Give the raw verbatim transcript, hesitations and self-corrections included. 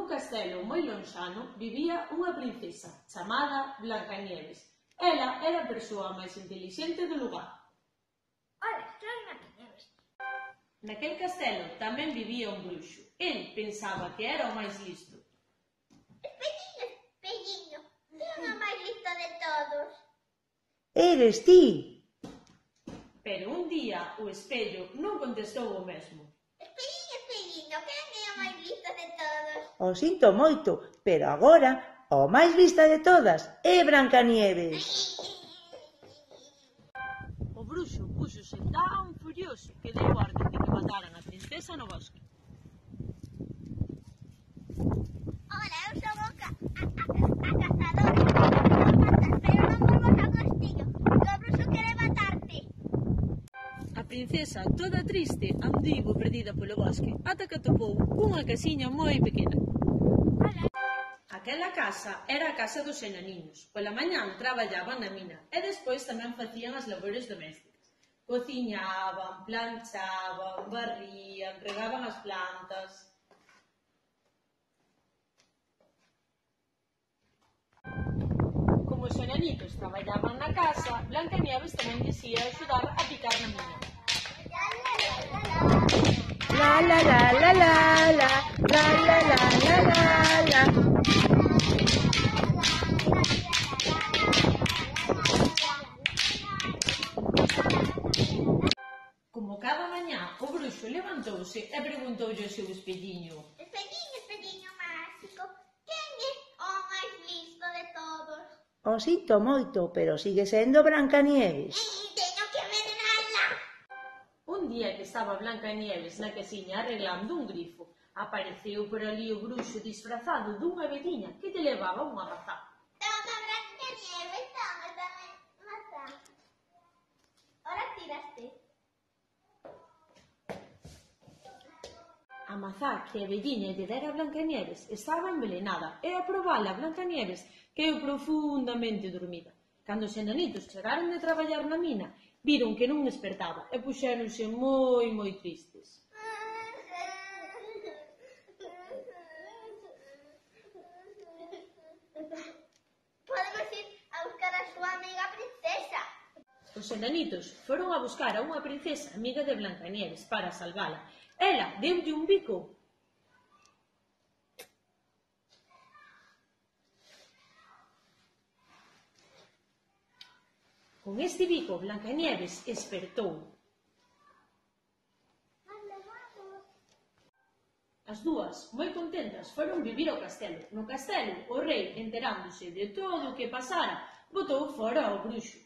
Nun castelo moi lonxano vivía unha princesa chamada Blancanieves. Ela era a persoa máis intelixente do lugar. Ola, soy Blancanieves. Naquel castelo tamén vivía un bruxo. El pensaba que era o máis listo. Espelliño, espelliño, que é o máis listo de todos? Eres ti. Pero un día o espello non contestou o mesmo. Espelliño, espelliño, que é o máis listo de todos? O sinto moito, pero agora o máis lista de todas é Blancanieves. O bruxo púxose tan furioso que deu orde de que mataran a princesa no bosque. Ola, eu son o ca... a, a, a cazadora. Me matas, pero non volvas ao castillo, que o bruxo quere matarte. A princesa, toda triste, andivo perdida polo bosque, ata que atopou unha casiña moi pequena. Ola. Aquela casa era a casa dos enaniños. Pola mañán traballaban na mina e despois tamén facían as labores domésticas. Cociñaban, planchaban, barrían, regaban as plantas. Como os enanitos traballaban na casa, Blancanieves tamén lles ia axudar a picar na mina. La la la la la la, la la la la la la. Como cada mañá, o bruxo levantouse e preguntoulle ao seu espelliño: Espelliño, espelliño máxico, quen é o máis listo de todos? O sinto moito, pero sigue sendo Blancanieves. Teño que envenenala. Un día que estaba Blancanieves na casiña arreglando un grifo, apareceu por ali o bruxo disfrazado dunha veciña que te levaba unha mazá. Toma, Blancanieves, toma, dame mazá. Ahora tiraste. A mazá que a veciña lle dera a Blancanieves estaba envenenada e a probala Blancanieves quedou profundamente dormida. Cando os enanitos chegaron de traballar na mina, viron que non despertaba e puxéronse moi, moi tristes. Podemos ir a buscar a súa amiga princesa. Os enanitos foron a buscar a unha princesa amiga de Blancanieves para salvala. Ela deulle un bico. Con este bico, Blancanieves espertou. As dúas, moi contentas, foron vivir ao castelo. No castelo, o rei, enterándose de todo o que pasara, botou fora ao bruxo.